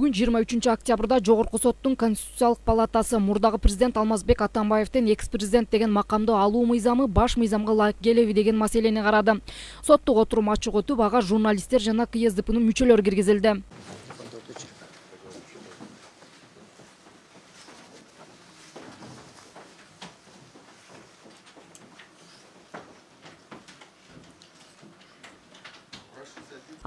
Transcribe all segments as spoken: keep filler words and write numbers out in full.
Бүгүн жыйырма үчүнчү октябрда Жогорку соттун Конституциялык палатасы мурдагы президент Алмазбек Атамбаевдин экс-президент деген макамды алуу мыйзамы баш мыйзамга ылайык келеби деген маселени карады. Соттук отурум ачык өтүп, ага журналисттер жана КСДПнын мүчөлөрү киргизилди.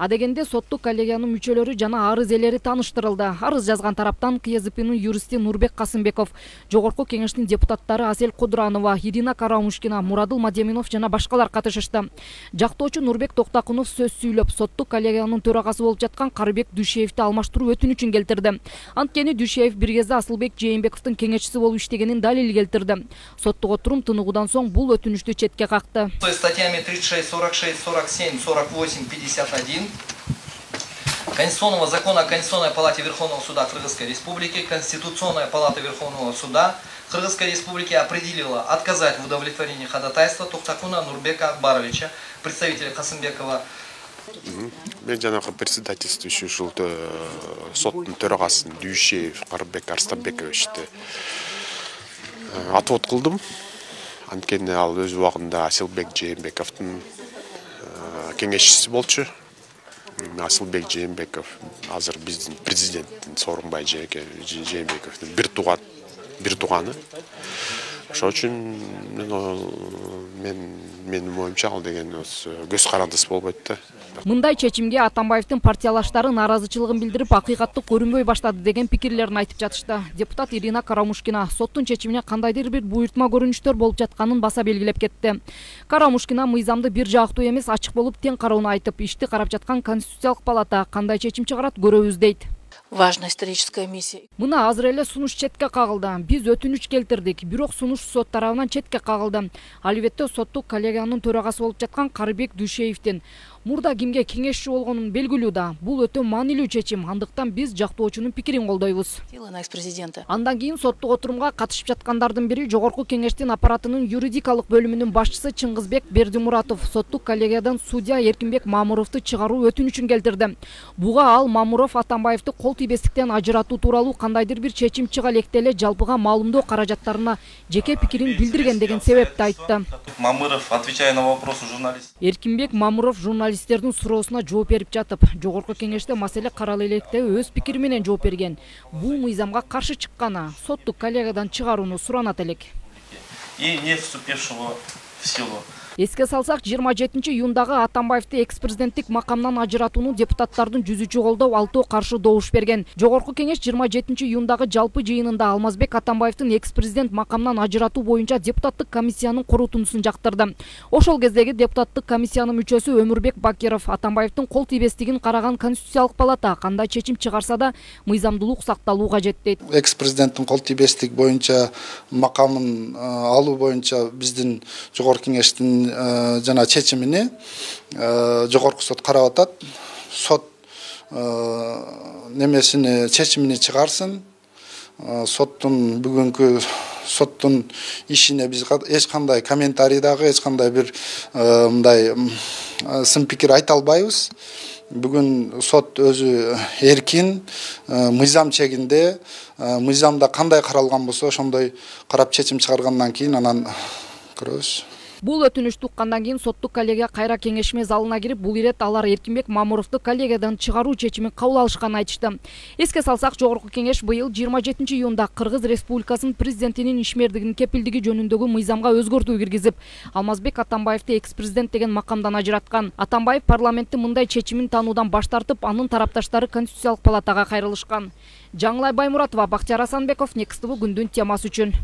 Адегенде соттук коллегиянын мүчөлөрү жана арыз ээлери тааныштырылды. Арыз жазган тараптан КСДПнын юристи Нурбек Касымбеков, Жогорку кеңештин депутаттары Асель Кудуранова, Ирина Карамушкина, Мурадыл Мадеминов жана башкалар катышышты. Жактоочу Нурбек Токтакунов сөз сүйлөп, соттук коллегиянын төрагасы болуп жаткан Карыбек Дүйшеевди алмаштыруу өтүнүчүн келтирди. Анткени Дүйшеев бир кезде Асылбек Жээнбековдун кеңешчиси болуп иштегенин далил келтирди. Соттук отурум тыныгуудан соң бул өтүнүчтү четке какты. Статьями тридцать шесть, сорок шесть, сорок семь, сорок восемь, пятьдесят один Конституционного закона о Конституционной палате Верховного суда Кыргызской Республики, Конституционная палата Верховного суда Кыргызской Республики определила отказать в удовлетворении ходатайства Токтакуна Нурбека Акбаровича, представителя Касымбекова. Мен жанагы председательствующий ушул соттун төрагасын Дүйшеев Карыбек Арстанбековичти отвод кылдым. Анткени ал өз убагында Асылбек Жээнбековдун кеңешчиси болчу. Асылбек Жээнбеков азыр биздин президент Сооронбай Жээнбековдун бир тууган бир тууганы. Ошол үчүн мен менин оюмча ал деген көз карандыс болбойт да. Мындай чечимге Атамбаевдин партиялаштары нааразычылыгын билдирип, акыйкатты көрүнбөй баштады деген пикирлерин айтып жатышты. Депутат Ирина Карамушкина соттун чечимине кандайдыр бир буйртма көрүнүштөр болуп жатканын баса белгилеп кетти. Карамушкина мыйзамды бир жактуу эмес, ачык болуп тең кароону айтып, ишти карап жаткан Конституциялык палата кандай чечим чыгарат көрөбүз дейт. Важная историческая миссия. Мына азыр эле сунуш четке кагылды. Биз өтүнүч келтирдик, бирок сунуш сот тарабынан четке кагылды. Албетте соттук коллегиянын төрагасы болуп жаткан Карыбек Дүйшеевдин мурда кимге кеңешчи болгонун белгилүү да. Бул өтө маанилүү чечим, андыктан биз жактоочунун пикирин колдойбуз. Андан кийин соттук отурумга катышып жаткандардын бири Жогорку кеңештин аппаратынын юридикалык бөлүмүнүн башчысы Чыңгызбек Бердимуратов соттук коллегиядан судья Эркинбек Мамуровду чыгаруу өтүнүчүн келтирди. Буга ал Мамуров Атамбаевди кол тийбестиктен ажыратуу тууралуу кандайдыр бир чечим чыга электе эле жалпыга маалымдоо каражаттарына жеке пикирин билдирген деген себепти айтты. Мамуров, отвечая на вопросы журналистов. Эркинбек Мамуров журналисттердин суроосуна жооп берип жатып, Жогорку кеңеште маселе каралып электе өз пикири менен жооп берген. Бул мыйзамга каршы чыкканы, соттук коллегиядан чыгарууну суранат элек. И не вступившего в силу. Эске салсак, жыйырма жетинчи июндагы Атамбаевди экс-президенттик макамдан ажыратууну депутаттардын жүзүчү колдоо алтоо каршы добуш берген. Жогорку кеңеш жыйырма жетинчи июндагы жалпы жыйынында Алмазбек Атамбаевдин экс-президент макамдан ажыратуу боюнча депутаттык комиссиянын корутундусун жактырды. Ошол кездеги депутаттык комиссиянын мүчөсү Өмүрбек Бакиров Атамбаевдин кол тийбестигин караган Конституциялык палата кандай чечим чыгарса да мыйзамдуулук сакталуу кажет дейт. Экс-президенттин кол тийбестик боюнча макамын алуу боюнча биздин Жогорку кеңештин жана чечимини Жогорку сот карап атат. Сот немесини чечимини чыгарсын. Соттун бүгүнкү соттун ишине биз эч кандай комментарий дагы, эч кандай бир мындай сын пикир айта албайбыз. Бүгүн сот өзү эркин, мыйзам чегинде, мыйзамда кандай каралган болсо ошондой карап чечим чыгаргандан кийин анан көрөбүз. Бул өтүнүштү уккандан кийин соттук коллегия кайра кеңешме залына кирип, бул ирет алар Эркинбек Мамуровду коллегиядан чыгаруу чечимин кабыл алышканын айтышты. Эске салсак, Жогорку кеңеш быйыл жыйырма жетинчи июнда Кыргыз Республикасынын президентинин ишмердигинин кепилдиги жөнүндөгү мыйзамга өзгөртүү киргизип, Алмазбек Атамбаевди экс-президент деген макамдан ажыраткан. Атамбаев парламенттин мындай чечимин таануудан баш тартып, анын тарапташтары Конституциялык палатага кайрылышкан. Жаңылай Баймуратова, Бактияр Асанбеков, Некс ТВ күндүн темасы үчүн.